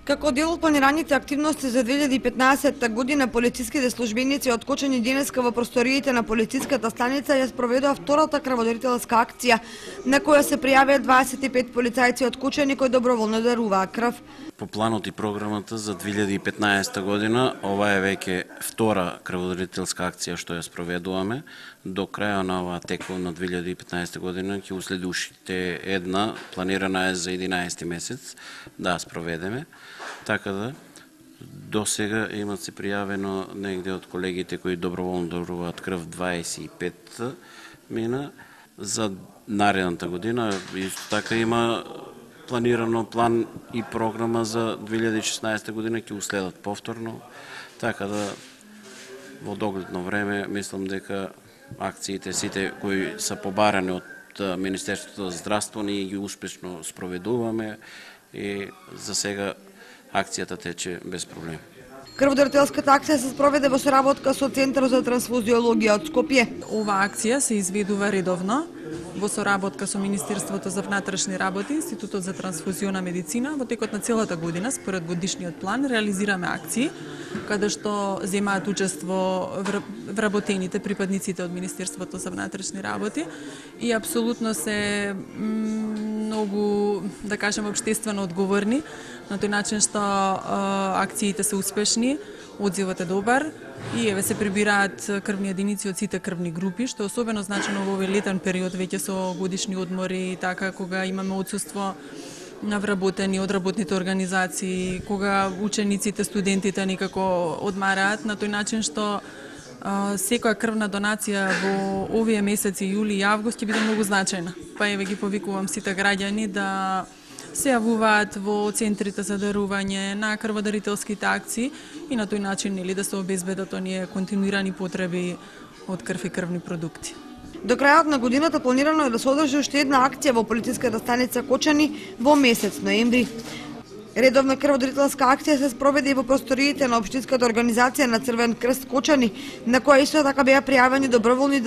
Како дел од планираните активности за 2015 година, полициските службеници од Кочани денеска во просториите на полициската станица ја спроведува втората крводарителска акција, на која се пријавија 25 полицајци од Кочани кои доброволно даруваа крв. По планот и програмата за 2015 година, ова е веќе втора крводарителска акција што ја спроведуваме. До крајот на оваа тековна 2015 година ќе уследи уште една, планирана е за 11 месец да спроведеме. Така да, до сега имат се пријавено негде од колегите кои доброволно даруваат крв 25 мина. За наредната година исто така има планирано план и програма за 2016 година, ќе уследат повторно. Така да, во догледно време, мислам дека акциите сите кои се побарани од Министерството за здравство, ние ги успешно спроведуваме и за сега акцијата тече без проблем. Крводарителската акција се спроведе во соработка со Центарот за трансфузиологија од Скопје. Ова акција се изведува редовно во соработка со Министерството за внатрешни работи, Институтот за трансфузиона медицина. Во текот на целата година, според годишниот план, реализираме акции каде што земаат учество вработените припадниците од Министерството за внатрешни работи и апсолутно се многу, да кажем, општествено одговорни на тој начин што акциите се успешни, одзивот е добар и еве се прибираат крвни единици од сите крвни групи, што е особено значено во овој летен период веќе со годишни одмори и така кога имаме отсуство на вработени од работните организации, кога учениците, студентите некако одмараат на тој начин што секоја крвна донација во овие месеци јули и август ќе биде многу значајна. Па еве ги повикувам сите граѓани да се јавуваат во центрите за дарување на крводарителските акции и на тој начин да се обезбедат оние континуирани потреби од крв и крвни продукти. До крајот на годината планирано е да се одржи уште една акција во полициската станица Кочани во месец ноември. Редовна крводарителска акција се спроведе и во просториите на општинската организација на Црвен крст Кочани, на која исто така беа пријавени доброволни